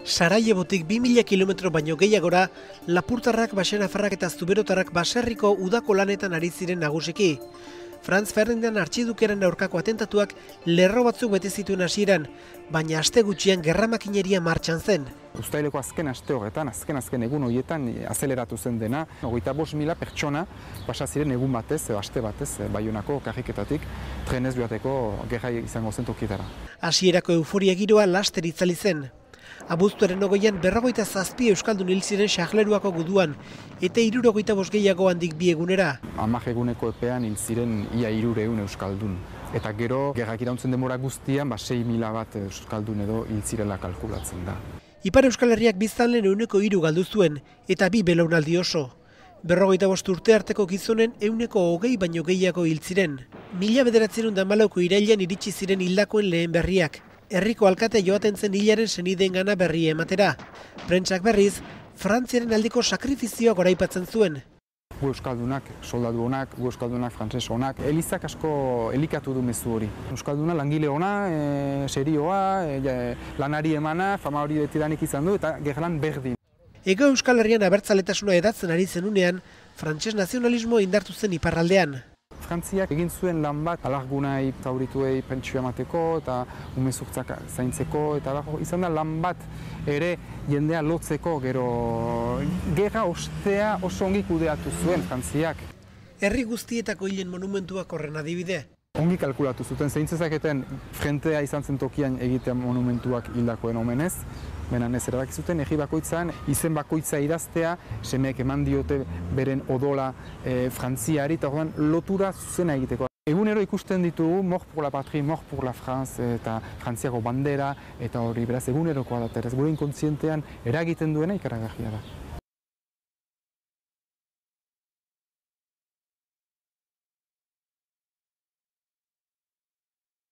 Sarajevotik 2000 kilometro baino gehiagora, lapurtarrak, baxenafarrak eta zuberotarrak baserriko udako lanetan ari ziren nagusiki. Franz Ferdinand artxidukeren aurkako atentatuak lerro batzuk bete zituen hasieran, baina aste gutxian gerramakineria martxan zen. Uztaileko azken aste horretan, azken egun horietan azeleratu zen dena. 25.000 pertsona pasa ziren egun batez, aste batez, Baionako karriketatik trenez joateko gerra izango zen tokietara. Hasierako euforia giroa laster itzali zen. Abuztuaren 20an 57 euskaldun hil ziren Xahleruako guduan, eta 65 gehiago handik bi egunera. 10 eguneko epean hil ziren ia 300 euskaldun. Eta gero, gerrak irauntzen demora guztian, 6.000 bat euskaldun edo hil zirela kalkulatzen da. Ipar Euskal Herriak biztanleen 300 galdu zuen, eta 2 belaunaldi oso. 55 urte arteko gizonen 120 baino gehiago hil ziren. 1914ko irailean iritsi ziren hildakoen lehen berriak. Herriko alkate joaten zen hilaren senideengana berri ematera. Prentsak berriz, Frantziaren aldeko sakrifizioa goraipatzen zuen. Gu euskaldunak, soldadu honak, gu euskaldunak, frantses honak, elizak asko elikatu du mezu hori. Euskalduna langile ona, serioa, lanari emana, fama hori betidanik izan du eta gerlan berdin. Ego Euskal Herrian abertzaletasuna edatzen ari zenunean, frantses nazionalismo indartu zen iparraldean. Frantziak egin zuen lan bat alargunai zaurituei pentsio emateko eta umezurtzak zaintzeko eta izan da lan bat ere jendea lotzeko, gero gerra ostea oso ongi kudeatu zuen Frantziak. Herri guztietako hilen monumentuak horren adibide. Ongi kalkulatu zuten zeintzezaketen frentea izan zen tokian egitea monumentuak hildakoen omenez. Benan ez erabaki zuten, egi bakoitzan, izen bakoitza idaztea, semeek eman diote beren odola Frantziari, eta horren lotura zuzena egiteko. Egunero ikusten ditugu, mort pour la patrie, mort pour la France, eta Frantziako bandera, eta hori beraz egunerokoa da, gure inkontzientean eragiten duena ikaragarria da.